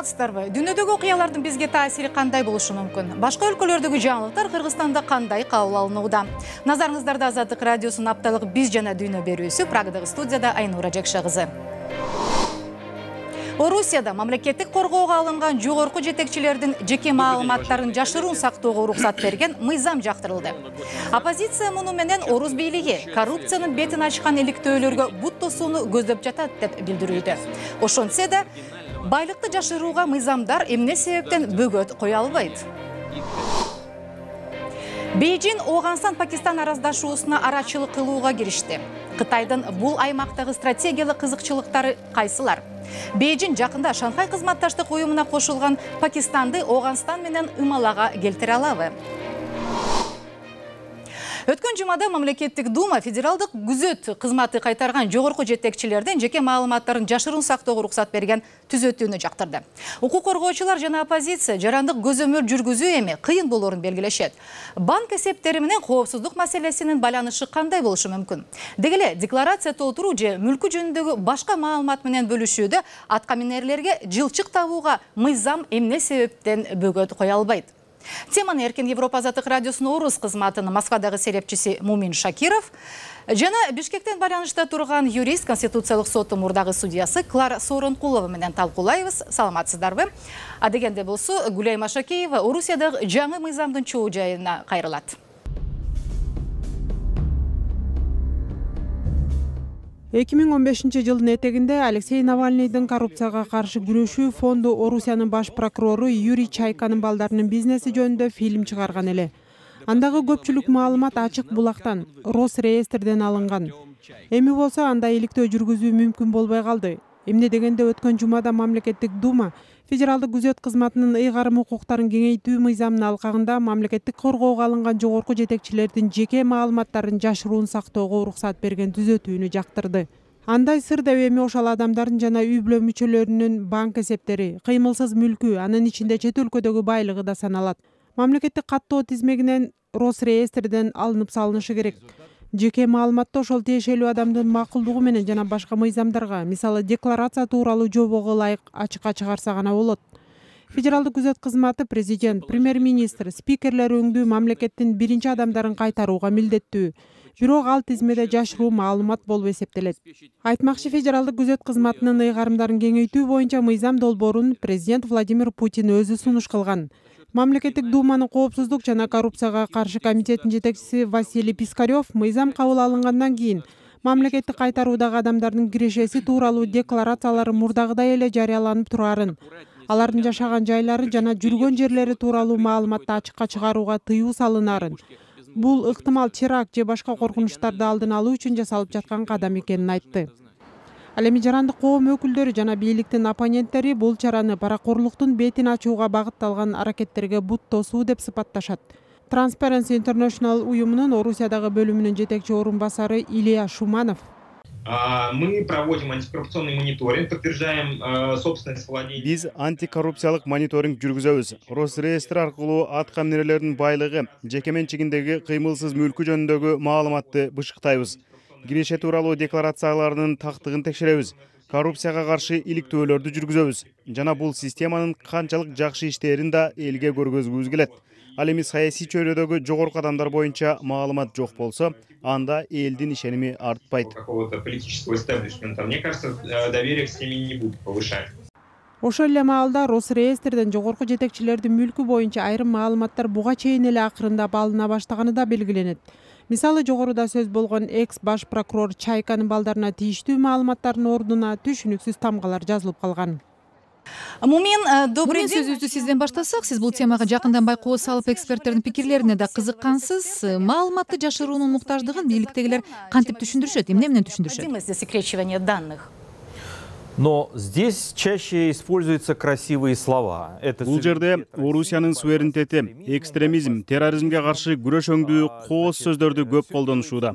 Саламатсыздарбы? Дүйнөдөгү окуялардын бизге таасири кандай болушу мүмкүн? Башка өлкөлөрдөгү жаңылыктар Кыргызстанда кандай кабыл алынууда? Назарыңыздарда Азаттык радиосунун апталык «Биз жана дүйнө» берүүсү. Прагадагы студияда Айнура Жакша кызы. Орусияда мамлекеттик коргоого алынган жогорку жетекчилердин жеке маалыматтарын жашыруун сактоого уруксат берген мыйзам жактырылды. Оппозиция муну менен орус бийлиги коррупциянын бетин ачкан иликтөөлөргө бут тосууну көздөп жатат деп билдирүүдө. Ошентсе да, байлыкты жашырууга мыйзамдар эмне себептен бөгөт кое албайт? Бейжин Оогунстан-Пакистан араздашуусуна арачылык кылууга киришти. Кытайдын бул аймактагы стратегиялык кызыкчылыктары кайсылар? Бейжин жакында Шанхай кызматташтык уюмуна кошулган Пакистанды Оогунстан менен ымалага келтире алабы? Өткөн жумада мамлекеттик дума федералдык күзөт кызматы кайтарган жогорку жетекчилердин жеке маалыматтарын жашыруун сактоого уруксат берген түзөтүүнү жактырды. Укук коргоочулар жана оппозиция жарандык көзөмөл жүргүзүү эми кыйын болоорун белгилешет. Банк эсептери менен коопсуздук маселесинин байланышы кандай болушу мүмкүн? Деги эле декларация толтуруу же мүлкү жөнүндөгү башка маалымат менен бөлүшүүдө атка минерлерге жылчык табууга мыйзам эмне себептен бөгөт кое албайт? Теманы Эркин Европа Азаттык радиосунун орус кызматынын Москвадагы серепчиси Мумин Шакиров жана Бишкектен байланышта турган юрист Конституциялык соттун мурдагы судьясы Клара Сооронкулова менен талкуулайбыз. Саламатсыздарбы? Адегенде болсо Гүлай Машакеева Орусиядагы жаңы мыйзамдын чоо жайына кайрылат. 2015 жылдын этегинде Алексей Навальныйдын коррупцияга каршы күрөшүү фонду Орусиянын баш прокурору Юрий Чайканын балдарынын бизнеси жөнүндө фильм чыгарган эле. Андагы көпчүлүк маалымат ачык булактан, Росреестрден алынган. Эми болсо андай иликтөө жүргүзүү мүмкүн болбой калды. Эмне дегенде өткөн жумада мамлекеттик дума федералдык күзөт кызматынын ыйгарым укуктарын кеңейтүү мыйзамынын алкагында мамлекеттик коргоого алынган жогорку жетекчилердин жеке маалыматтарын жашыруун сактоого уруксат берген түзөтүүнү жактырды. Андай сыр деп эми ошол адамдардын жана үй бүлө мүчөлөрүнүн банк эсептери, кыймылсыз мүлкү, анын ичинде чет өлкөдөгү байлыгы да саналат. Мамлекеттик каттоо тизмегинен Росреестрден алынып салынышы керек. Жеке маалыматты ошол тиешелүү адамдын макулдугу менен жана башка мыйзамдарга, мисалы декларация тууралуу жобого ылайык ачыкка чыгарса гана болот. Федералдык күзөт кызматы президент, премьер-министр, спикерлер өңдүү мамлекеттин биринчи адамдарын кайтарууга милдеттүү. Бирок ал тизмеде жашыруу маалымат болуп эсептелет. Айтмакчы, федералдык күзөт кызматынын ыйгарымдарын кеңейтүү боюнча мыйзам долбоорун президент Владимир Путин өзү сунуш кылган. Мамлекеттик думанын коопсуздук жана коррупцияга каршы комитетинин жетекчиси Василий Пискарев мыйзам кабыл алынгандан кийин мамлекеттик кайтаруудагы адамдардын кирешеси тууралуу декларациялары мурдагыдай эле жарыяланып турарын, алардын жашаган жайлары жана жүргөн жерлери тууралуу маалыматты ачыкка чыгарууга тыюу салынарын, бул ыктымал теракт же башка коркунучтарды алдын алуу үчүн жасалып жаткан кадам экенин айтты. Ал эми жарандык коом өкүлдөрү жана бийликтин оппоненттери бул чараны паракорлуктун бетин ачууга багытталган аракеттерге бут тосуу деп сыпатташат. Transparency International уюмунун Орусиядагы бөлүмүнүн жетекчи орун басары Илья Шуманов. Мы проводим антикоррупционный мониторинг, подтверждаем собственность владения. Биз антикоррупциялык мониторинг жүргүзөбүз. Росреестр аркылуу атка минерлердин байлыгы, жеке менчигиндеги кыймылсыз мүлкү жөнүндөгү маалыматты бышыктайбыз. Киреше тууралуу декларацияларынын тактыгын текшеребиз. Коррупцияга каршы иликтөөлөрдү жүргүзөбүз. Жана бул системанын канчалык жакшы иштээрин да элге көргөзгүбүз келет. Ал эми саясий чөйрөдөгү жогорку адамдар боюнча маалымат жок болсо, анда элдин ишеними артпайт. Какого-то политического истеблишмента, мне кажется, доверие к системе не будет повышать. Ошол эле маалда Росреестрден жогорку жетекчилердин мүлкү боюнча айрым маалыматтар буга чейин эле акырындап алына баштаганы да белгиленет. Мисалы, жогоруда сөз болгон экс баш прокурор Чайканын балдарына тийиштүү маалыматтардын ордуна түшүнүксүз тамгалар жазылып калган. Мумин, добрый день. Сөзүбүздү сизден баштасак, сиз бул темага жакындан байкоо салып эксперттердин пикирлерине да кызыккансыз. Маалыматты жашыруунун муктаждыгын бийликтегилер кантип түшүндүрүшөт, эмне менен түшүндүрүшөт? Засекречивание данных. Но здесь чаще используются красивые слова. Бул жерде Орусиянын суверенитети, экстремизм, терроризмге каршы күрөш өңдүү кооз сөздөрдү көп колдонушууда.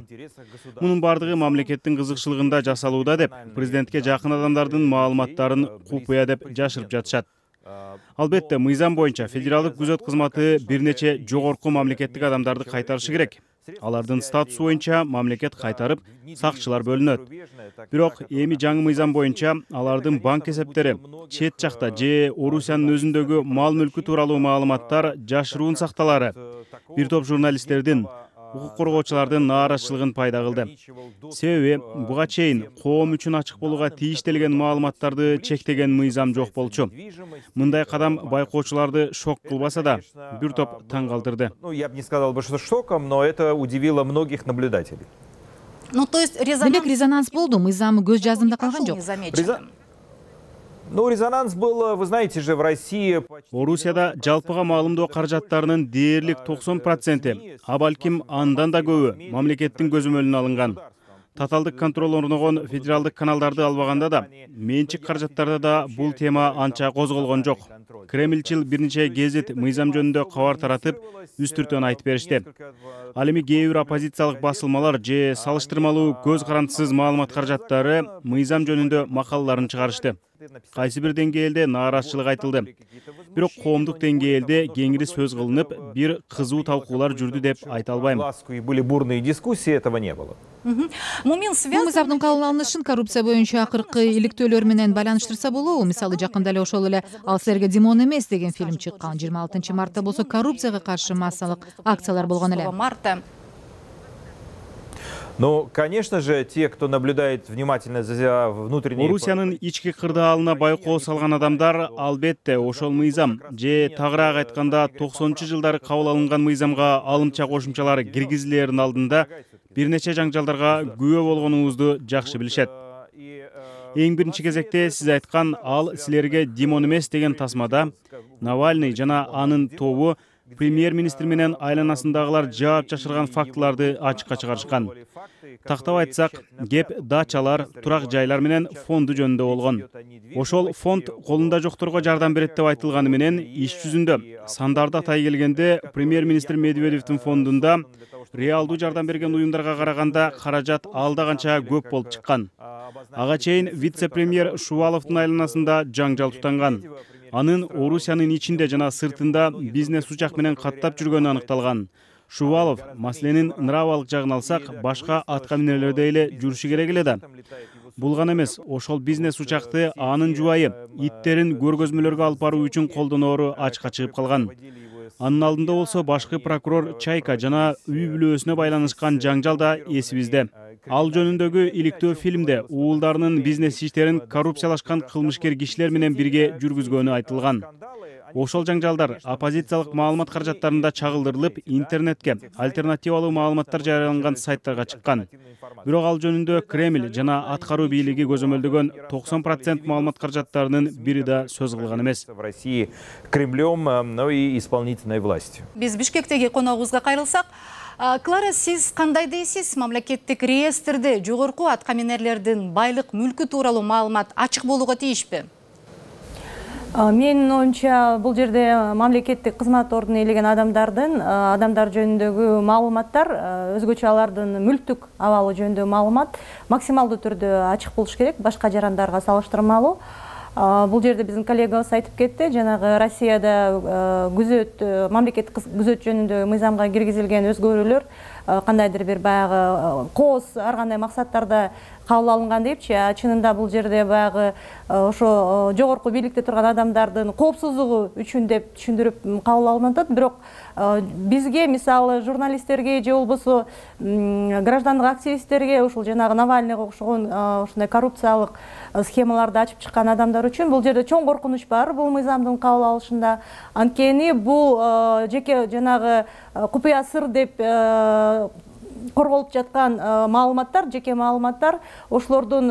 Мунун бардыгы мамлекеттин кызыкчылыгында жасалууда деп президентке жакын адамдардын маалыматтарын купуя деп жашырып жатышат. Албетте, мыйзам боюнча федералдык күзөт кызматы бир нече жогорку мамлекеттик адамдарды кайтарышы керек. Алардын статусу боюнча мамлекет кайтарып, сакчылар бөлүнөт. Бирок эми жаңы мыйзам боюнча алардын банк эсептери, чет жакта же Орусиянын өзүндөгү мал мүлкү тууралуу маалыматтар жашыруун сакталары бир топ журналисттердин, укук коргоочулардын нааразычылыгын пайда кылды. Себеби буга чейин коом үчүн ачык болууга тийиштелген маалыматтарды чектеген мыйзам жок болчу. Мындай кадам байкоочуларды шок кылбаса да, бир топ таң калтырды. Я бы не сказал бы, что шоком, но это удивило многих наблюдателей. Демек резонанс болду, мыйзам көз жаздымда калган жок. Ну, резонанс был, вы знаете же, в России... Орусияда жалпыга маалымдоо каражаттарынын дээрлик 90%, а балким андан да көбү мамлекеттин көзөмөлүнө алынган. Таталдык контроль орногон федералдык каналдарды албаганда да, менчик каражаттарда да бул тема анча козголгон жок. Кремльчил бир нече гезит мыйзам жөнүндө кабар таратып, үстүртөн айтып беришти. Ал эми кээ бир оппозициялык басылмалар же салыштырмалуу көз карандысыз маалымат каражаттары мыйзам жөнүндө макалаларын чыгарышты. Кайсы бир деңгээлде нааразычылык айтылды. Бирок коомдук деңгээлде кеңири сөз кылынып, бир кызуу талкуулар жүрдү деп айта албайм. Были бурные дискуссии, этого не было. Бул мыйзамдын кабыл алынышын коррупция боюнча акыркы иликтөөлөр менен байланыштырса болобу? Мисалы, жакында эле ошол эле «Ал силерге Димон эмес» деген фильм чыккан. 26-мартта болсо коррупцияга каршы массалык акциялар болгон эле. Ну, конечно же, те, кто наблюдает внимательно за внутренней... Орусиянын ички кырдаалына байкоо салган адамдар албетте ошол мыйзам же тагыраак айтканда 90-жылдары кабыл алынган мыйзамга алымча кошумчалар киргизилерин алдында бир нече жаңжалдарга күбө болгонуңузду жакшы билишет. Эң биринчи кезекте сиз айткан «Ал силерге Димон эмес» деген тасмада Навальный жана анын тобу премьер-министр менен айланасындагылар жаап жашырган фактыларды ачыкка чыгарышкан. Тактап айтсак, кеп дачалар, турак жайлар менен фонду жөнүндө болгон. Ошол фонд колунда жокторго жардам берет деп айтылганы менен иш жүзүндө сандарды атай келгенде премьер-министр Медведевдин фондунда реалдуу жардам берген уюмдарга караганда каражат алда канча көп болуп чыккан. Ага чейин вице-премьер Шуваловдун айланасында жаңжал тутанган. Анын Орусиянын ичинде жана сыртында бизнес учак менен каттап жүргөнү аныкталган. Шувалов маселенин нравалык жагын алсак, башка атка минерлердей эле жүрүшү керек эле да. Бул гана эмес, ошол бизнес учакты анын жубайы иттерин көргөзмөлөргө алып баруу үчүн колдоноору ачыкка чыгып калган. Анын алдында болсо башкы прокурор Чайка жана үй бүлөсүнө байланышкан жаңжал да эсибизде. Ал жөнүндөгү иликтөө фильмде уулдарынын бизнес иштерин коррупциялашкан кылмышкер кишилер менен бирге жүргүзгөнү айтылган. Ошол жаңжалдар оппозициялык маалымат каражаттарында чагылдырылып, интернетке альтернативалуу маалыматтар жарыяланган сайттарга чыккан. Бирок ал жөнүндө Кремль жана аткаруу бийлиги көзөмөлдөгөн 90% маалымат каражаттарынын бири да сөз кылган эмес. В России Кремлем, но и исполнительной властью. Биз Бишкектеги коногубузга кайрылсак, Клара, сиз кандай дейсиз? Мамлекеттик реестрде жогорку аткаминерлердин байлык мүлкү тууралуу маалымат ачык болууга тийишпи? Менин оюмча бул жерде мамлекеттик кызмат ордуна ээлеген адамдар жөнүндөгү маалыматтар, өзгөчө алардын мүлктүк абалы жөнүндөгү маалымат максималдуу түрдө ачык болуш керек, башка жарандарга салыштырмалуу. Бул жерде биздин коллегабыз айтып кетти, жанагы Россияда күзөт, мамлекеттик күзөт жөнүндө мыйзамга киргизилген өзгөрүүлөр кандайдыр бир баягы кооз ар кандай максаттарда кабыл алынган депчи, чынында бул жерде баягы ошо жогорку бийликте турган адамдардын коопсуздугу үчүн деп түшүндүрүп кабыл алынып атат. Бирок бизге, мисалы, журналисттерге же болбосо граждандык активисттерге, ушул жанагы Навальныйга окшогон ушундай коррупциялык схемаларды ачып чыккан адамдар үчүн бул жерде чоң коркунуч бар бул мыйзамдын кабыл алышында. Анткени бул жеке жанагы купуя сыр деп корголуп жаткан маалыматтар, жеке маалыматтар, ошолордун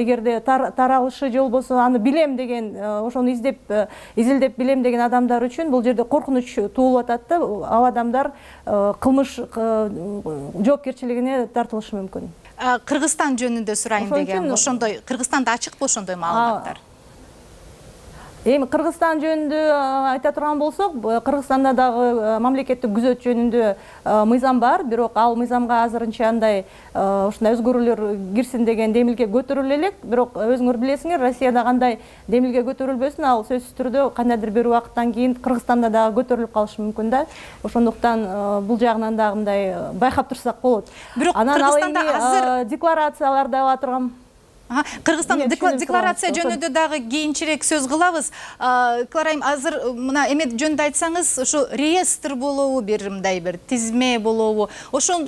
эгерде таралышы же болбосо аны билем деген, ошону изилдеп билем деген адамдар үчүн бул жерде коркунуч туулуп атат да, ал адамдар кылмыш жоопкерчилигине тартылышы мүмкүн. Кыргызстан жөнүндө сурайын деген, ошондой Кыргызстанда ачыкпы ошондой маалыматтар? Эми Кыргызстан жөнүндө айта турган болсок, Кыргызстанда дагы мамлекеттик күзөт жөнүндө мыйзам бар, бирок ал мыйзамга азырынча андай ушундай өзгөрүүлөр кирсин деген демилге көтөрүлө элек. Бирок өзүңөр билесиңер, Россияда кандай демилге көтөрүлбөсүн, ал сөзсүз түрдө кандайдыр бир убакыттан кийин Кыргызстанда дагы көтөрүлүп калышы мүмкүн да. Ошондуктан бул жагынан дагы мындай байкап турсак болот. Бирок анан ал Кыргызстанда азыр декларацияларды ала турган. Кыргызстан декларация жөнүндө дагы кийинчерээк сөз кылабыз. Кларайым, азыр мына эмет жөнүндө айтсаңыз, ошо реестр болобу, бир мындай бир тизме болобу? Ошон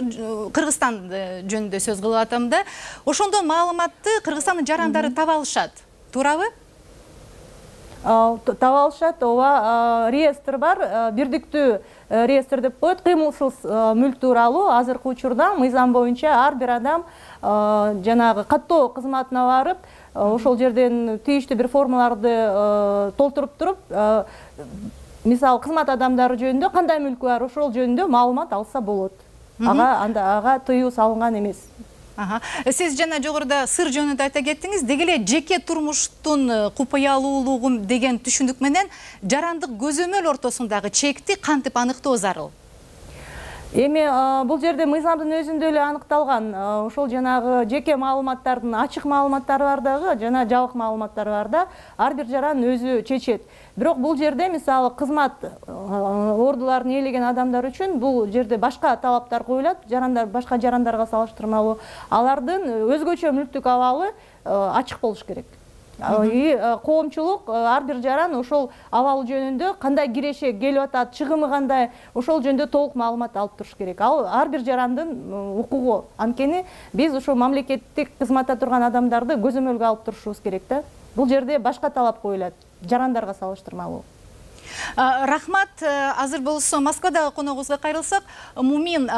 Кыргызстан жөнүндө сөз кылып атам да. Ошондо маалыматты Кыргызстандын жарандары таба алышат. Туурабы? Таба алышат, ооба, реестр бар, бирдиктүү реестр деп коет. Кыймылсыз мүлк тууралуу азыркы учурда мыйзам боюнча ар бир адам жанагы каттоо кызматына барып, ошол жерден тийиштүү бир формаларды толтуруп туруп, мисалы кызмат адамдары жөнүндө кандай мүлкү бар, ошол жөнүндө маалымат алса болот. Ага тыюу салынган эмес. Сиз жана жогоруда сыр жөнүндө айта кеттиңиз. Деги эле жеке турмуштун купуялуулугу деген түшүнүк менен жарандык көзөмөл ортосундагы чекти кантип аныктоо зарыл? Эми бул жерде мыйзамдын өзүндө эле аныкталган. Ошол жанагы жеке маалыматтардын ачык маалыматтары бар дагы, жана жабык маалыматтар бар да. Ар бир жаран өзү чечет. Бирок бул жерде мисалы кызмат ордуларын ээлеген адамдар үчүн бул жерде башка талаптар коюлат. Жарандар башка жарандарга салыштырмалуу. Алардын өзгөчө мүлктүк абалы ачык болуш керек. Коомчулук ар бир жаран ошол абалы жөнүндө кандай киреше келип атат, чыгымы кандай, ошол жөнүндө толук маалымат алып туруш керек. Ал ар бир жарандын укугу. Анткени биз ошол мамлекеттик кызматта турган адамдарды көзөмөлгө алып турушубуз керек да. Бул жерде башка талап коюлат, жарандарга салыштырмалуу. Рахмат. Азыр болсо Москвадагы коногубузга кайрылсак, Мумин,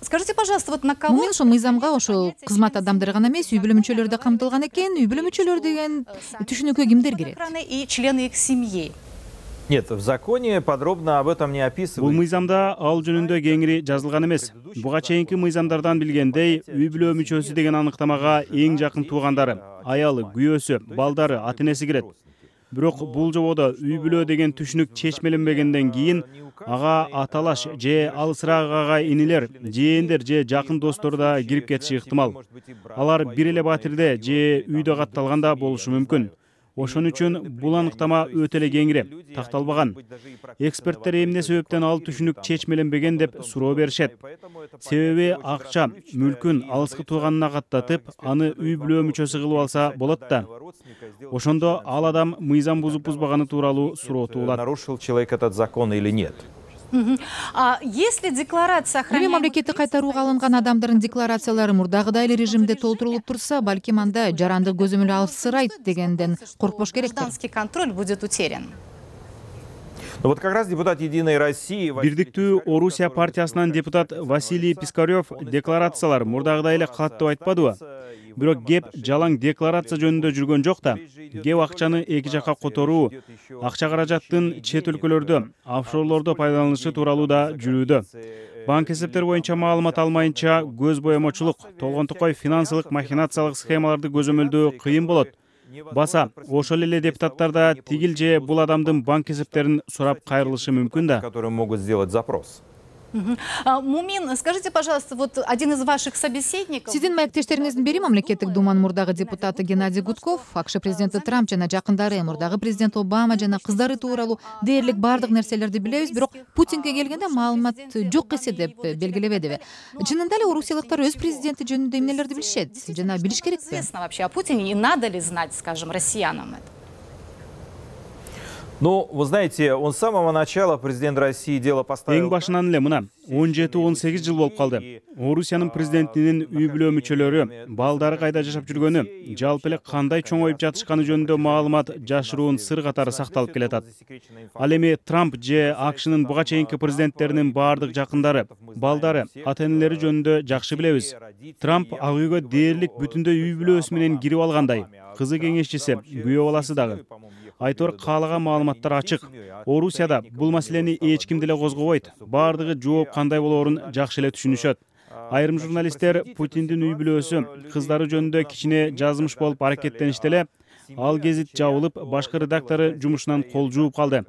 скажите, пожалуйста, вот на кого... Мумин ошо мыйзамга ошо кызмат адамдары гана эмес, үй бүлө мүчөлөрү да камтылган экен. Үй бүлө мүчөлөрү деген түшүнүккө кимдер кирет? И члены их семьи. Нет, в законе подробно об этом не описывается. Бул мыйзамда ал жөнүндө кеңири жазылган эмес. Буга чейинки мыйзамдардан билгендей, үй бүлө мүчөсү деген аныктамага эң жакын туугандары, аялы, күйөөсү, балдары, ата-энеси кирет. Бирок бул жободо үй бүлө деген түшүнүк чечмеленбегенден кийин ага аталаш же алысыраак агай инилер, жээндер же жакын достор да кирип кетиши ыктымал. Алар бир эле батирде же үйдө катталганда болушу мүмкүн. Ошон үчүн бул аныктама өтө эле кеңири, такталбаган. Эксперттер эмне себептен ал түшүнүк чечмеленбеген деп суроо беришет. Себеби акча, мүлкүн алыскы тууганына каттатып, аны үй бүлө мүчөсү кылып алса болот да. Ошондо ал адам мыйзам бузуп-бузбаганы тууралуу суроо туулат. Нарушил человек этот закон или нет? Если декларация Эми мамлекеттик кайтарууга алынган адамдардын декларациялары мурдагыдай эле режимде толтурулуп турса, балким анда жарандык көзөмөл алсырайт дегенден коркпош керектир. Гражданский контроль будет утерян. Ну вот как раз депутат Единой России... Бирдиктүү Орусия партиясынан депутат Василий Пискарев декларациялар мурдагыдай эле калат деп айтпадыбы? Бирок кеп жалаң декларация жөнүндө жүргөн жок да. Кеп акчаны эки жакка которуу, акча каражаттын чет өлкөлөрдө, офшорлордо пайдаланышы тууралуу да жүрүүдө. Банк эсептери боюнча маалымат алмайынча көз боемочулук, толгонтукай финансылык махинациялык схемаларды көзөмөлдөө кыйын болот. Баса, ошол эле депутаттар да тигил же бул адамдын банк эсептерин сурап кайрылышы мүмкүн да. Которые могут сделать запрос. Мумин, скажите, пожалуйста, вот один из ваших собеседников... Сиздин маектештериңиздин бири мамлекеттик думанын мурдагы депутаты Геннадий Гудков, АКШ президенти Трамп жана жакындары, мурдагы президент Обама жана кыздары тууралуу дээрлик бардык нерселерди билебиз, бирок Путинге келгенде маалымат жок эсе деп белгилебедиби? Чынында эле орусиялыктар өз президенти жөнүндө эмнелерди билишет жана билиш керекпи? Известно вообще о Путине, и надо ли знать, скажем, россиянам это? Ну, вы знаете, он с самого начала, президент России, дело поставил... Эң башынан эле мына 17-18 жыл болуп калды. Орусиянын президентинин үй бүлө мүчөлөрү, балдары кайда жашап жүргөнү, жалпы эле кандай чоңоюп жатышканы жөнүндө маалымат жашыруун сыр катары сакталып келатат. Ал эми Трамп же АКШнын буга чейинки президенттеринин баардык жакындары, балдары, ата-энелери жөнүндө жакшы билебиз. Трамп ак үйгө дээрлик бүтүндөй үй бүлөсү менен кирип алгандай, кызы кеңешчиси, күйөө баласы дагы. Айтор каалаган маалыматтар ачык. Орусияда бул маселени эч ким деле козгобойт. Бардыгы жооп кандай болоорун жакшы эле түшүнүшөт. Айрым журналисттер Путиндин үй бүлөсү, кыздары жөнүндө кичине жазмыш болуп аракеттеништи эле, ал гезит жабылып, башкы редактору жумушунан кол жууп калды.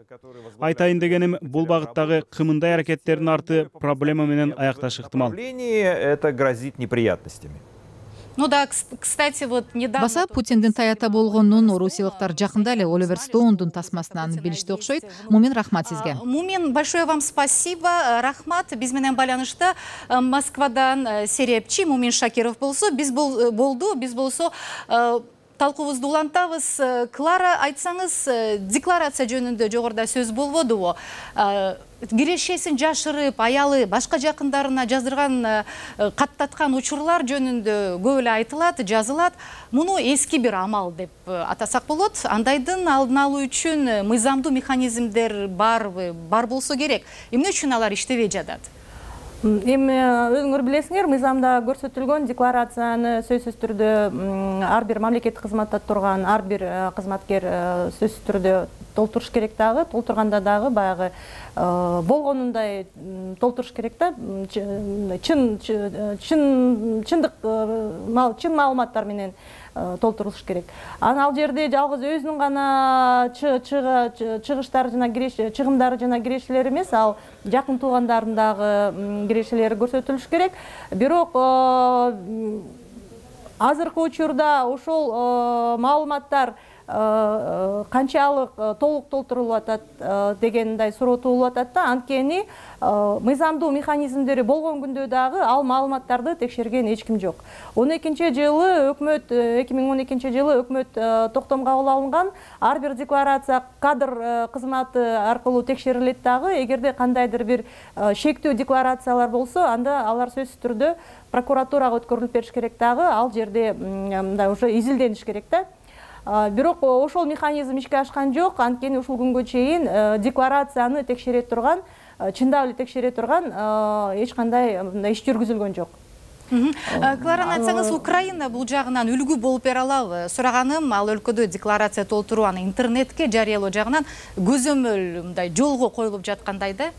Айтайын дегеним, бул багыттагы кымындай аракеттердин арты проблема менен аякташы ыктымал. Это грозит неприятностями. Ну да, кстати, вот недавно... Баса Путиндин таята болгонун орусиялыктар жакында эле Оливер Стоундун тасмасынан билишти окшойт. Мумин, рахмат сизге. Мумин, большое вам спасибо. Рахмат, биз менен байланышта Москвадан серепчи Мумин Шакиров болсо, биз болсо талкуубузду улантабыз. Клара, айтсаңыз, декларация жөнүндө жогоруда сөз болбодубу? Кирешесин жашырып, аялы башка жакындарына жаздырган, каттаткан учурлар жөнүндө көп эле айтылат, жазылат. Муну эски бир амал деп атасак болот. Андайдын алдын алуу үчүн мыйзамдуу механизмдер барбы? Бар болсо керек. Эмне үчүн алар иштебей жатат? Эми өзүңөр билесиңер, мыйзамда көрсөтүлгөн декларацияны сөзсүз түрдө ар бир мамлекеттик кызматта турган ар бир кызматкер сөзсүз түрдө толтуруш керек дагы, толтурганда дагы баягы болгонундай толтуруш керек да, чын маалыматтар менен толтурулуш керек. Ал жерде жалгыз өзүнүн гана чыгыштары жана чыгымдары жана кирешелери эмес, ал жакын туугандарынын дагы кирешелери көрсөтүлүш керек. Бирок азыркы учурда ошол маалыматтар канчалык толук толтурулуп атат дегендей суроо туулуп атат да. Анткени мыйзамдуу механизмдери болгон күндө дагы ал маалыматтарды текшерген эч ким жок. 2012 жылы өкмөт токтом кабыл алынган ар бир декларация кадр кызматы аркылуу текшерилет дагы. Эгерде кандайдыр бир шектүү декларациялар болсо, анда алар сөзсүз түрдө прокуратурага өткөрүлүп бериш керек дагы. Ал жерде мындай уже изилдениш керек да. Бирок ошол механизм ишке ашкан жок. Анткени ушул күнгө чейин декларацияны текшере турган, чындап эле текшере турган эч кандай иш жүргүзүлгөн жок. Клара, айтсаңыз, Украина бул жагынан үлгү болуп бере алабы? Сураганым, ал өлкөдө декларация толтуруу, аны интернетке жарыялоо жагынан көзөмөл мындай жолго коюлуп жаткандай да.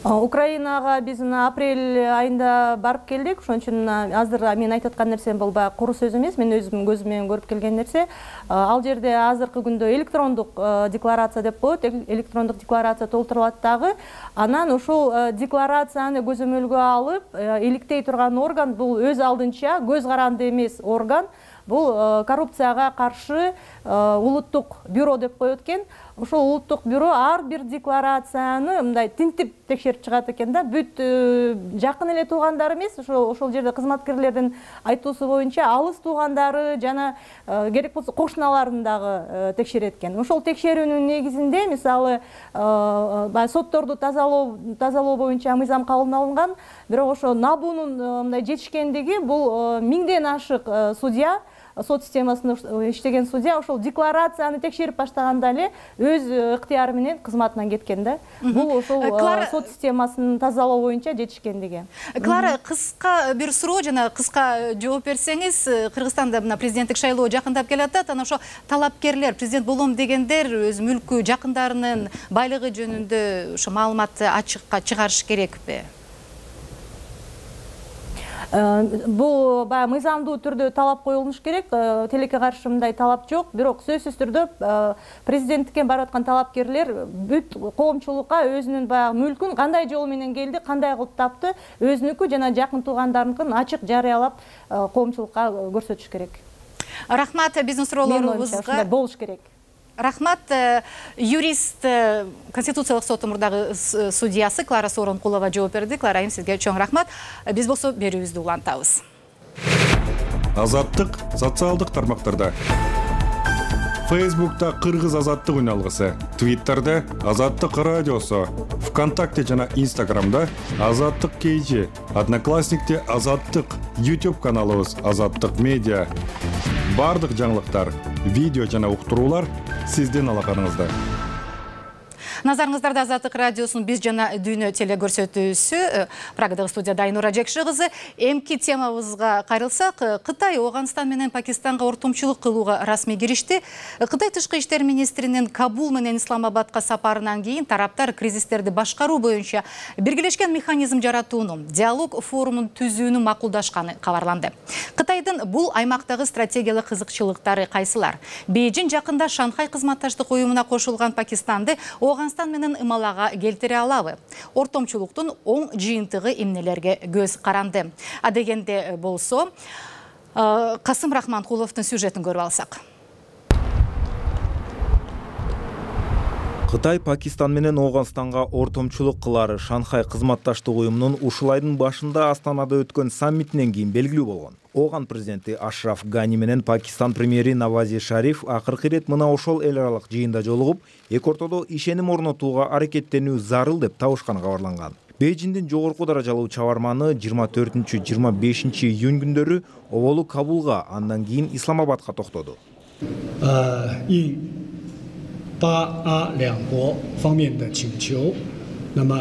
Украинага биз апрель айында барып келдик. Ошон үчүн азыр мен айтып аткан нерсем бул баягы куру сөз эмес, мен өзүм көзүм менен көрүп келген нерсе. Ал жерде азыркы күндө электрондук декларация деп коет, электрондук декларация толтурулат дагы. Анан ушул декларацияны көзөмөлгө алып, иликтей турган орган бул өз алдынча көз каранды эмес орган. Бул коррупцияга каршы улуттук бюро деп коет экен. Ошол улуттук бюро ар бир декларацияны мындай тинтип текшерип чыгат экен да. Бүт жакын эле туугандары эмес, ошол жерде кызматкерлердин айтуусу боюнча алыс туугандары жана керек болсо кошуналарын дагы текшерет экен. Ошол текшерүүнүн негизинде мисалы сотторду тазалоо боюнча мыйзам кабыл алынган. Бирок ошо набуунун мындай жетишкендиги бул 1000ден ашык судья, сот системасында иштеген судья ошол декларацияны текшерип баштаганда эле өз ыктыяры менен кызматынан кеткен да. Бул ошол сот системасын тазалоо боюнча жетишкендиги. Клара, кыска бир суроо жана кыска жооп берсеңиз, Кыргызстанда мына президенттик шайлоо жакындап келатат. Анан ошо талапкерлер, президент болом дегендер өз мүлкү, жакындарынын байлыгы жөнүндө ошо маалыматты ачыкка чыгарыш керекпи? Бул баягы мыйзамдуу түрдө талап коюлуш керек. Тилекке каршы мындай талап жок. Бирок сөзсүз түрдө президенттикке барып аткан талапкерлер бүт коомчулукка өзүнүн баягы мүлкүн кандай жол менен келди, кандай кылып тапты, өзүнүкү жана жакын туугандарыныкын ачык жарыялап коомчулукка көрсөтүш керек. Рахмат, биздин суроолорубузга болуш керек. Рахмат, юрист Конституциялык соттун мурдагы судьясы Клара Сооронкулова жооп берди. Клара айым, сизге чоң рахмат. Биз болсо берүүбүздү улантабыз. Азаттык социалдык тармактарда. Фейсбукта Кыргыз азаттык үналгысы, Твиттерде Азаттык радиосу, ВКонтакте жана Инстаграмда Азаттык KG, Одноклассникте Азаттык, YouTube каналыбыз Азаттык медиа. Бардык жаңылыктар, видео жана уктуруулар сиздин алаканыңызда. Назарыңыздарда Азаттык радиосунун Биз жана дүйнө телекөрсөтүүсү. Прагадагы студияда Айнура Жекши кызы. Эмки темабызга кайрылсак, Кытай Ооганстан менен Пакистанга ортомчулук кылууга расмий киришти. Кытай тышкы иштер министринин Кабул менен Исламабадка сапарынан кийин тараптар кризистерди башкаруу боюнча биргелешкен механизм жаратууну, диалог форумун түзүүнү макулдашканы кабарланды. Кытайдын бул аймактагы стратегиялык кызыкчылыктары кайсылар? Бейжин жакында Шанхай кызматташтык уюмуна кошулган Пакистанды Ооганстан менен ымалага келтире алабы? Ортомчулуктун оң жыйынтыгы эмнелерге көз каранды? Адегенде болсо, Касым Рахманкуловдун сюжетин көрүп алсак. Кытай Пакистан менен Ооганстанга ортомчулук кылары Шанхай кызматташтык уюмунун ушул айдын башында Астанада өткөн саммитинен кийин белгилүү болгон. Ооган президенти Ашраф Гани менен Пакистан премьери Навази Шариф акыркы ирет мына ошол эл аралык жыйында жолугуп, эки ортодо ишеним орнотууга аракеттенүү зарыл деп табышканы кабарланган. Бейжиндин жогорку даражалуу чабарманы 24-25 июнь күндөрү оболу Кабулга, андан кийин Исламабадка токтоду.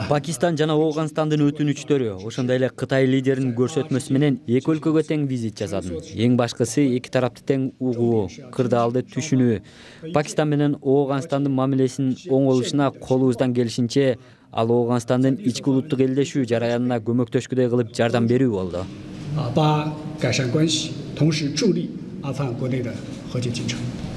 Пакистан жана Ооганстандын өтүнүчтөрү, ошондой эле Кытай лидеринин көрсөтмөсү менен эки өлкөгө тең визит жасадым. Эң башкысы эки тарапты тең угуу, кырдаалды түшүнүү. Пакистан менен Ооганстандын мамилесинин оңолушуна колубуздан келишинче, ал Ооганстандын ички улуттук элдешүү жараянына көмөктөшкүдөй кылып жардам берүү болду.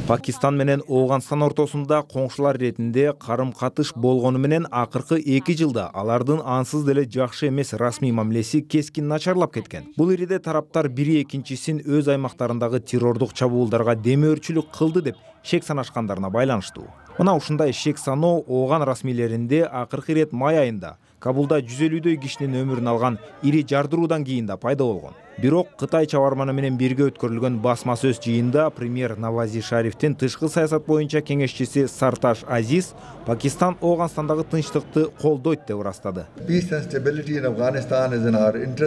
Пакистан менен Ооганстан ортосунда коңшулар иретинде карым-катыш болгону менен акыркы 2 жылда алардын ансыз деле жакшы эмес расмий мамилеси кескин начарлап кеткен. Бул ириде тараптар бири экинчисин өз аймактарындагы террордук чабуулдарга демөөрчүлүк кылды деп шек санашкандарына байланыштуу. Мына ушундай шек саноо Ооган расмийлеринде акыркы ирет май айында Кабулда 150дөй кишинин өмүрүн алган ири жардыруудан кийин да пайда болгон. Бирок Кытай чабарманы менен бирге өткөрүлгөн басма сөз жыйында премьер Навази Шарифтин тышкы саясат боюнча кеңешчиси Сарташ Азиз Пакистан Ооганстандагы тынчтыкты колдойт деп ырастады.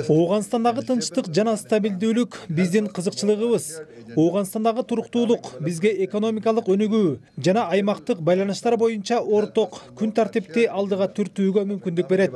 Ооганстандагы тынчтык жана стабилдүүлүк биздин кызыкчылыгыбыз. Ооганстандагы туруктуулук бизге экономикалык өнүгүү жана аймактык байланыштар боюнча орток күн тартипти алдыга түртүүгө мүмкүндүк берет.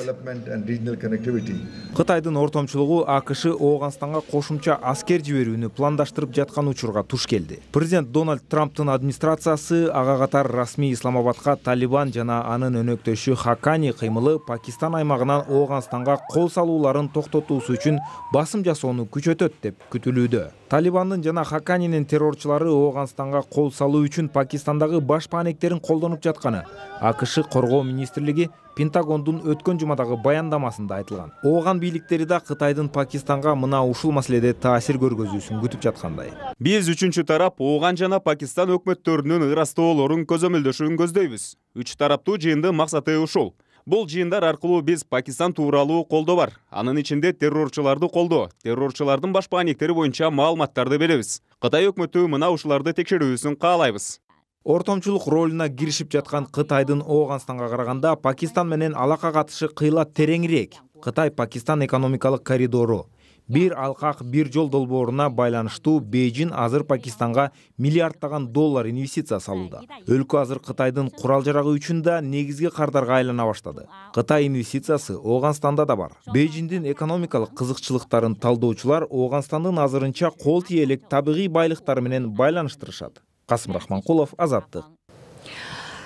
Кытайдын ортомчулугу АКШ Ооганстанга кошумча аскер жиберүүнү пландаштырып жаткан учурга туш келди. Президент Дональд Трамптын администрациясы ага катар расмий Исламабадка Талибан жана анын өнөктөшү Хакани кыймылы Пакистан аймагынан Ооганстанга кол салууларын токтотуусу үчүн басым жасоону күчөтөт деп күтүлүүдө. Талибандын жана Хаканинин террорчулары Ооганстанга кол салуу үчүн Пакистандагы баш паанектерин колдонуп жатканы АКШ Коргоо министрлиги Пентагондун өткөн жумадагы баяндамасында айтылган. Ооган бийликтери да Кытайдын Пакистанга мына ушул маселеде таасир көргөзүүсүн күтүп жаткандай. Биз үчүнчү тарап Ооган жана Пакистан өкмөттөрүнүн ырастоолорун көзөмөлдөшүүн көздөйбүз. Үч тараптуу жыйындын максаты ушул. Бул жыйындар аркылуу биз Пакистан тууралуу колдоо бар. Анын ичинде террорчуларды колдоо, террорчулардын баш паанектери боюнча маалыматтарды беребиз. Кытай өкмөтү мына ушуларды текшерүүсүн каалайбыз. Ортомчулук ролуна киришип жаткан Кытайдын Ооганстанга караганда Пакистан менен алака катышы кыйла тереңирээк. Кытай-Пакистан экономикалык коридору бир алкак бир жол долбооруна байланыштуу Бейжин азыр Пакистанга миллиарддаган доллар инвестиция салууда. Өлкө азыр Кытайдын курал-жарагы үчүн да негизги кардарга айлана баштады. Кытай инвестициясы Ооганстанда да бар. Бейжиндин экономикалык кызыкчылыктарын талдоочулар Ооганстандын азырынча кол тие элек табигый байлыктары менен байланыштырышат. Касым Рахманкулов, Азаттык.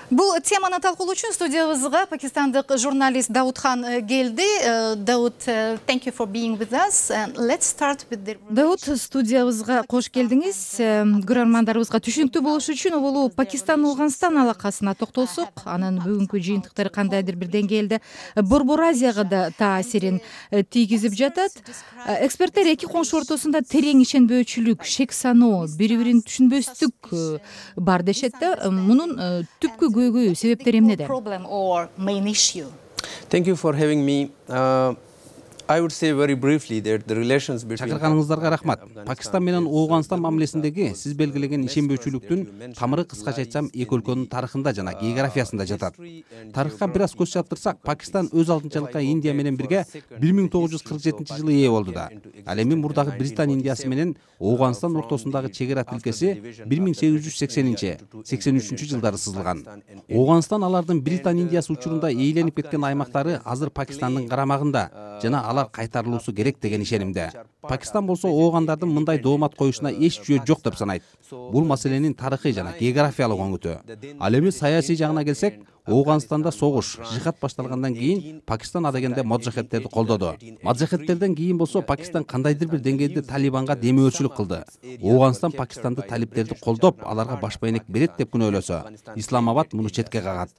Бул теманы талкуулоо үчүн студиябызга пакистандык журналист Даудхан келди. Дауд, thank you for being with us. Let's start with the... Дауд, студиябызга кош келдиңиз. Көрөрмандарыбызга түшүнүктүү болуш үчүн оболу Пакистан Ооганстан алакасына токтолсок, анын бүгүнкү жыйынтыктары кандайдыр бир деңгээлде Борбор Азияга да таасирин тийгизип жатат. Эксперттер эки коңшу ортосунда терең ишенбөөчүлүк, шек саноо, бири-бирин түшүнбөстүк бар дешет да. Мунун түпкү себептери эмнеде? Thank you for having me. Чакырганыңыздарга рахмат. Пакистан менен Ооганстан мамилесиндеги сиз белгилеген ишенбөөчүлүктүн тамыры кыскача айтсам эки өлкөнүн тарыхында жана географиясында жатат. Тарыхка бир аз көз чаптырсак, Пакистан өз алдынчалыкка Индия менен бирге 1947-жылы ээ болду да. Ал эми мурдагы Британ Индиясы менен Ооганстан ортосундагы чегара тилкеси 1880-83 жылдары сызылган. Ооганстан алардын Британ Индиясы учурунда ээленип кеткен аймактары азыр Пакистандын карамагында жана алар кайтарылуусу керек деген ишенимде. Пакистан болсо оогандардын мындай доомат коюшуна эч жөө жок деп санайт. Бул маселенин тарыхый жана географиялык өңүтү. Ал эми саясий жагына келсек, Ооганстанда согуш, жихад башталгандан кийин Пакистан адегенде моджахедтерди колдоду. Моджахедтерден кийин болсо Пакистан кандайдыр бир деңгээлде Талибанга демөөрчүлүк кылды. Ооганстан Пакистанды талиптерди колдоп, аларга баш байнек берет деп күнөөлөсө, Исламабад муну четке кагат.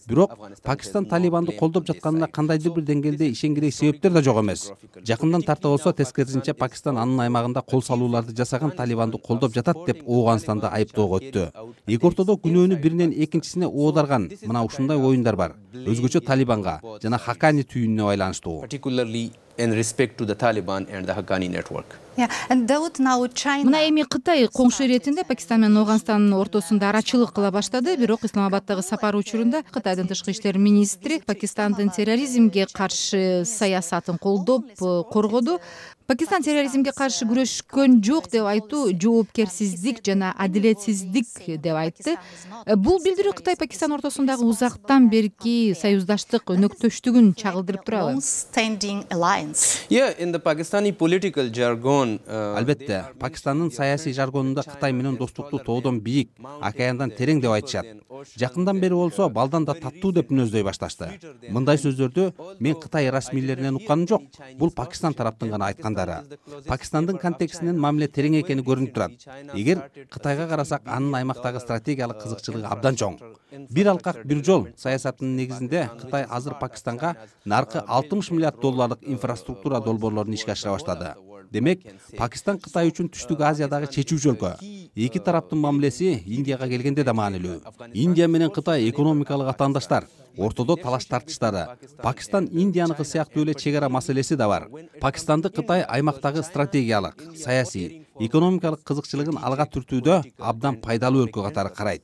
Бирок Пакистан Талибанды колдоп жатканына кандайдыр бир деңгээлде ишенгирей себептер да жок эмес. Жакындан тарта болсо тескерисинче Пакистан анын аймагында кол салууларды жасаган Талибанды колдоп жатат деп Ооганстанды айыптоого өттү. Эки ортодо күнөөнү биринен экинчисине оодарган мына ушундай оюндар бар. Өзгөчө Талибанга жана Хакани түйүнүнө байланыштуу. Мына эми Кытай коңшу иретинде Пакистан менен Ооганстандын ортосунда арачылык кыла баштады. Бирок Исламабаддагы сапар учурунда Кытайдын тышкы иштер министри Пакистандын терроризмге каршы саясатын колдоп, коргоду. Пакистан терроризмге каршы күрөшкөн жок деп айтуу жоопкерсиздик жана адилетсиздик деп айтты. Бул билдирүү Кытай Пакистан ортосундагы узактан берки союздаштык өнөктөштүгүн чагылдырып турабы? Албетте, Пакистандын саясий жаргонунда Кытай менен достукту тоодон бийик, океандан терең деп айтышат. Жакындан бери болсо балдан да таттуу деп мүнөздөй башташты. Мындай сөздөрдү мен Кытай расмийлеринен укканым жок. Бул Пакистан тараптын гана айткандары. Пакистандын контекстинен мамиле терең экени көрүнүп турат. Эгер Кытайга карасак, анын аймактагы стратегиялык кызыкчылыгы абдан чоң. Бир алкак бир жол саясатынын негизинде Кытай азыр Пакистанга наркы $60 миллиард инфраструктура долбоорлорун ишке ашыра баштады. Демек, Пакистан Кытай үчүн Түштүк Азиядагы чечүүчү өлкө. Эки тараптын мамилеси Индияга келгенде да маанилүү. Индия менен Кытай экономикалык атаандаштар. Ортодо талаш тартыштары. Пакистан Индияныкы сыяктуу эле чегара маселеси да бар. Пакистанды Кытай аймактагы стратегиялык, саясий, экономикалык кызыкчылыгын алга түртүүдө абдан пайдалуу өлкө катары карайт.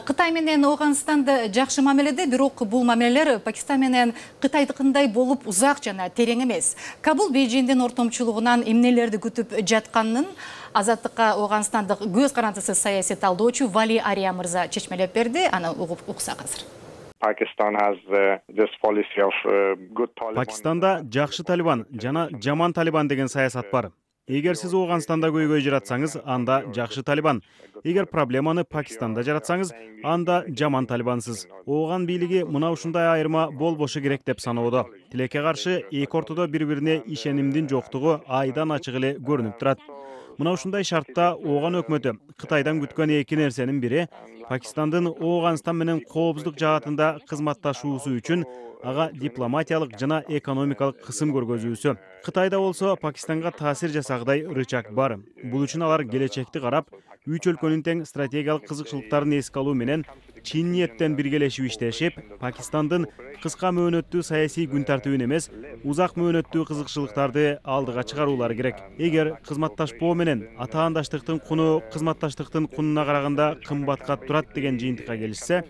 Кытай менен Ооганстанды жакшы мамиледе, бирок бул мамилелер Пакистан менен Кытайдыкындай болуп узак жана терең эмес. Кабул Бейжиңдин ортомчулугунан эмнелерди күтүп жатканын Азаттыкка Ооганстандык көз карандысыз саясий талдоочу Вали Ария мырза чечмелеп берди. Аны угуп уксак азыр. Пакистанда жакшы Талибан жана жаман Талибан деген саясат бар. Эгер сиз Ооганстанда көйгөй жаратсаңыз, анда жакшы Талибан. Эгер проблеманы Пакистанда жаратсаңыз, анда жаман Талибансыз. Ооган бийлиги мына ушундай айырма болбошу керек деп саноодо. Тилекке каршы эки ортодо бири-бирине ишенимдин жоктугу айдан ачык эле көрүнүп турат. Мына ушундай шартта Ооган өкмөтү Кытайдан күткөн эки нерсенин бири Пакистандын Ооганстан менен коопсуздук жаатында кызматташуусу үчүн ага дипломатиялык жана экономикалык кысым көргөзүүсү. Кытайда болсо Пакистанга таасир жасагыдай рычаг бар. Бул үчүн алар келечекти карап, үч өлкөнүн тең стратегиялык кызыкчылыктарын эске алуу менен чын ниеттен биргелешип иштешип, Пакистандын кыска мөөнөттүү саясий күн тартибин эмес, узак мөөнөттүү кызыкчылыктарды алдыга чыгаруулары керек. Эгер кызматташпоо менен атаандаштыктын куну кызматташтыктын кунуна караганда кымбатка турат деген жыйынтыкка келишсе,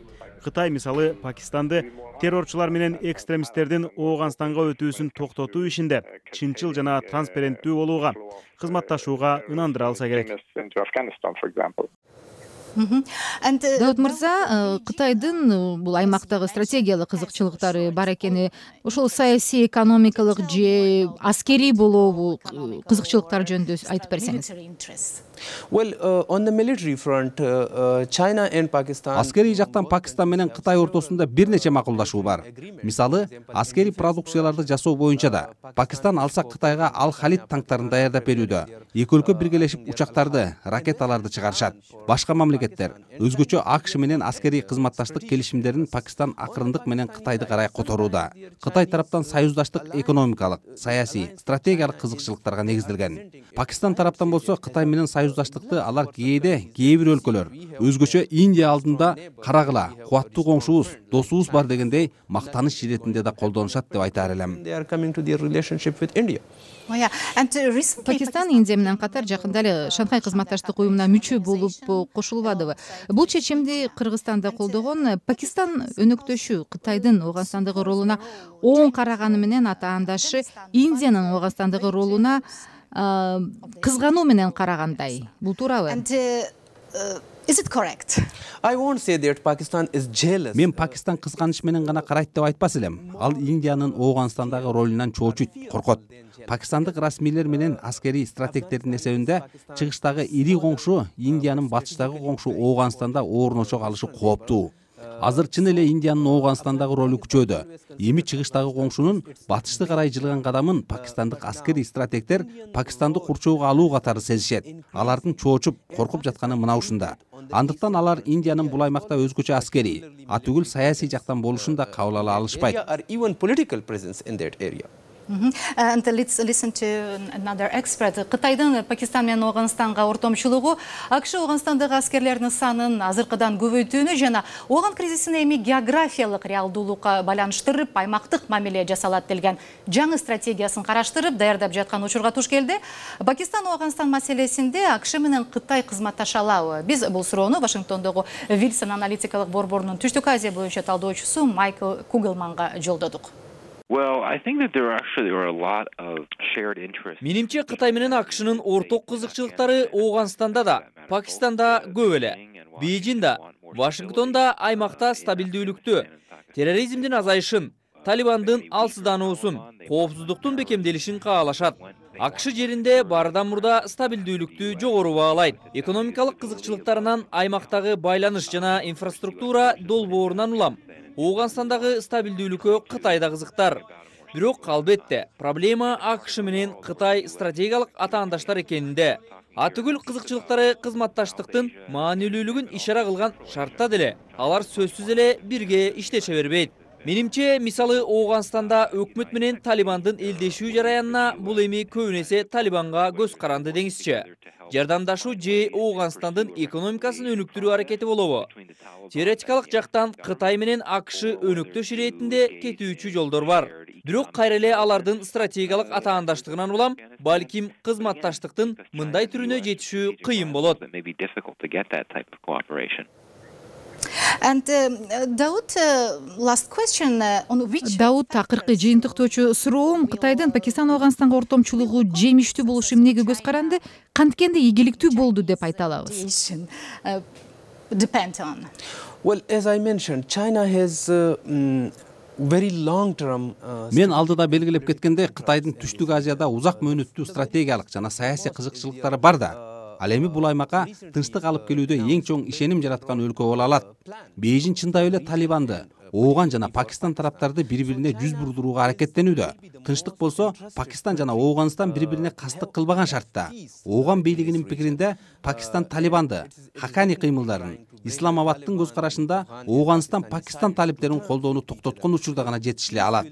Кытай мисалы Пакистанды террорчулар менен экстремисттердин Ооганстанга өтүүсүн токтотуу ишинде чынчыл жана транспаrenттүү болууга, кызматташууга ынандыра алса керек. Даут мырза, Кытайдын бул аймактагы стратегиялык кызыкчылыктары бар экени, ошол саясий, экономикалык же аскерий болобу кызыкчылыктар жөнүндө айтып берсеңиз. Аскерий жактан Пакистан менен Кытай ортосунда бир нече макулдашуу бар. Мисалы, аскерий продукцияларды жасоо боюнча да Пакистан алсак Кытайга Ал-Халид танктарын даярдап берүүдө. Эки өлкө биргелешип учактарды, ракеталарды чыгарышат. Башка мамлекеттер өзгөчө АКШ менен аскерий кызматташтык келишимдерин Пакистан акырындык менен Кытайды карай которууда. Кытай тараптан союздаштык экономикалык, саясий, стратегиялык кызыкчылыктарга негизделген. Пакистан тараптан болсо Кытай менен союз союздаштыкты алар кээ бир өлкөлөр өзгөчө Индия алдында карагыла, кубаттуу коңшубуз, досубуз бар дегендей мактаныч иретинде да колдонушат деп айтаар элем. Пакистан Индия менен катар жакында эле Шанхай кызматташтык уюмуна мүчө болуп кошулбадыбы? Бул чечимди Кыргызстан да колдогон. Пакистан өнөктөшү Кытайдын Ооганстандагы ролуна оң караганы менен атаандашы Индиянын Ооганстандагы ролуна кызгануу менен карагандай. Бул туурабы? Is it correct? I won't say that Pakistan is jealous. Мен Пакистан кызганыч менен гана карайт деп айтпас элем. Ал Индиянын Ооганстандагы ролунан чоочуйт, коркот. Пакистандык расмийлер менен аскерий стратегдердин эсебинде чыгыштагы ири коңшу Индиянын батыштагы коңшу Ооганстанда орношо калышы кооптуу. Азыр чын эле Индиянын Ооганстандагы ролу күчөдү. Эми чыгыштагы коңшунун батышты карай жылган кадамын пакистандык аскерий стратегдер Пакистанды курчоого алуу катары сезишет. Алардын чоочуп, коркуп жатканы мына ушунда. Андыктан алар Индиянын бул аймакта өзгөчө аскерий, атүгүл саясий жактан болушун да кабыл ала алышпайт. And let's listen to another expert. Кытайдын Пакистан менен Ооганстанга ортомчулугу АКШ Ооганстандагы аскерлердин санын азыркыдан көбөйтүүнү жана ооган кризисин эми географиялык реалдуулукка байланыштырып, аймактык мамиле жасалат делген жаңы стратегиясын караштырып, даярдап жаткан учурга туш келди. Пакистан Ооганстан маселесинде АКШ менен Кытай кызматташа алабы? Биз бул суроону Вашингтондогу Wilson аналитикалык борборунун Түштүк Азия боюнча талдоочусу Майкл Куглманга жолдодук. Менимче Кытай менен АКШнын орток кызыкчылыктары Ооганстанда да, Пакистанда көп эле. Бейжин да, Вашингтон да аймакта стабилдүүлүктү, терроризмдин азайышын, Талибандын алсыздануусун, коопсуздуктун бекемделишин каалашат. АКШ жеринде баардан мурда стабилдүүлүктү жогору баалайт. Экономикалык кызыкчылыктарынан аймактагы байланыш жана инфраструктура долбоорунан улам. Ооганстандагы стабилдүүлүккө Кытай да кызыктар. Бирок албетте, проблема АКШ менен Кытай стратегиялык атаандаштар экенинде. Атүгүл кызыкчылыктары кызматташтыктын маанилүүлүгүн ишара кылган шартта деле алар сөзсүз эле бирге иштеше бербейт. Менимче, мисалы Ооганстанда өкмөт менен Талибандын элдешүү жараянына бул эми көбүнесе Талибанга көз каранды деңизчи. Жардамдашуу же Ооганстандын экономикасын өнүктүрүү аракети болобу? Теоретикалык жактан Кытай менен АКШ өнөктөш иретинде кетүүчү жолдор бар. Бирок кайра эле алардын стратегиялык атаандаштыгынан улам, балким кызматташтыктын мындай түрүнө жетишүү кыйын болот. And Daud, last question on which... Дауд, акыркы жыйынтыктоочу суроом, Кытайдын Пакистан Ооганстанга ортомчулугу жемиштүү болушу эмнеге көз каранды, канткенде ийгиликтүү болду деп айта алабыз? Depend on. Well, as I mentioned, China has very long term. Мен алдыда белгилеп кеткенде, Кытайдын Түштүк Азияда узак мөөнөттүү стратегиялык жана саясий кызыкчылыктары бар да. Ал эми бул аймакка тынчтык алып келүүдө эң чоң ишеним жараткан өлкө боло алат. Бейжин чындап эле Талибанды, Ооган жана Пакистан тараптарды бири-бирине жүз бурдурууга аракеттенүүдө. Тынчтык болсо, Пакистан жана Ооганстан бири-бирине кастык кылбаган шартта. Ооган бийлигинин пикиринде Пакистан Талибанды, Хакани кыймылдарын, Исламабадтын көз карашында Ооганстан Пакистан талиптерин колдоону токтоткон учурда гана жетишиле алат.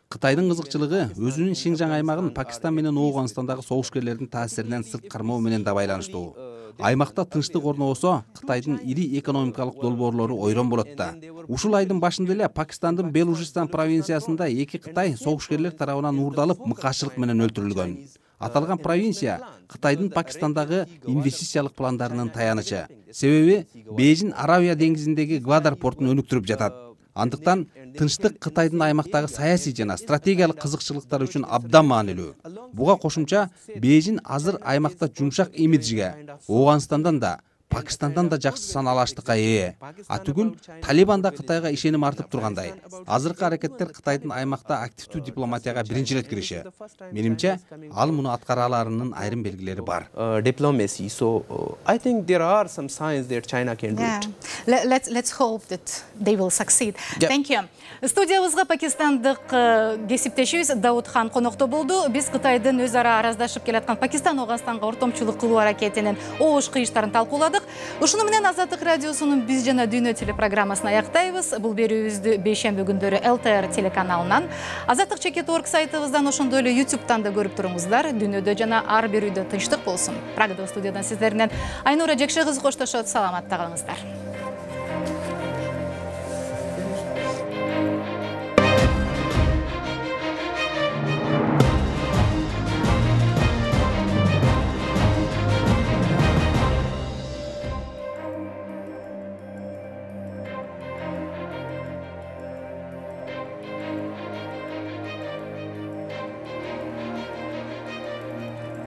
Кытайдын кызыкчылыгы өзүнүн Шинжаң аймагын Пакистан менен Ооганстандагы согушкерлердин таасиринен сырт кармоо менен да байланыштуу. Аймакта тынчтык орнобосо, Кытайдын ири экономикалык долбоорлору ойрон болот да. Ушул айдын башында эле Пакистандын Белужистан провинциясында эки Кытай согушкерлер тарабынан уурдалып, мыкаачылык менен өлтүрүлгөн. Аталган провинция Кытайдын Пакистандагы инвестициялык пландарынын таянычы. Себеби Бейжин Аравия деңизиндеги Гвадар портун өнүктүрүп жатат. Андыктан тынчтык Кытайдын аймактагы саясий жана стратегиялык кызыкчылыктары үчүн абдан маанилүү. Буга кошумча Бейжин азыр аймакта жумшак имиджге, Ооганстандан да, Пакистандан да жакшы саналаштыкка ээ. Атүгүл Талибанда Кытайга ишеним артып тургандай. Азыркы аракеттер Кытайдын аймакта активдүү дипломатияга биринчи ирет кириши. Менимче, ал муну аткара аларынын айрым белгилери бар. Diplomacy. So I think there are some signs that China can do it. Let's hope that they will succeed. Thank you. Студиябызга пакистандык кесиптешибиз Даудхан конокто болду. Биз Кытайдын өз ара араздашып келаткан Пакистан Ооганстанга ортомчулук кылуу аракетинин оош кыйыштарын талкууладык. баштадык. Ушуну менен Азаттык радиосунун Биз жана Дүйнө телепрограммасын аяктайбыз. Бул берүүбүздү бейшемби күндөрү ЛТР телеканалынан, Азаттык /org сайтыбыздан, ошондой эле YouTube'дан да көрүп туруңуздар. Дүйнөдө жана ар бир үйдө тынчтык болсун. Прагада студиядан сиздер менен Айнура Жекше кызы коштошот. Саламатта калыңыздар.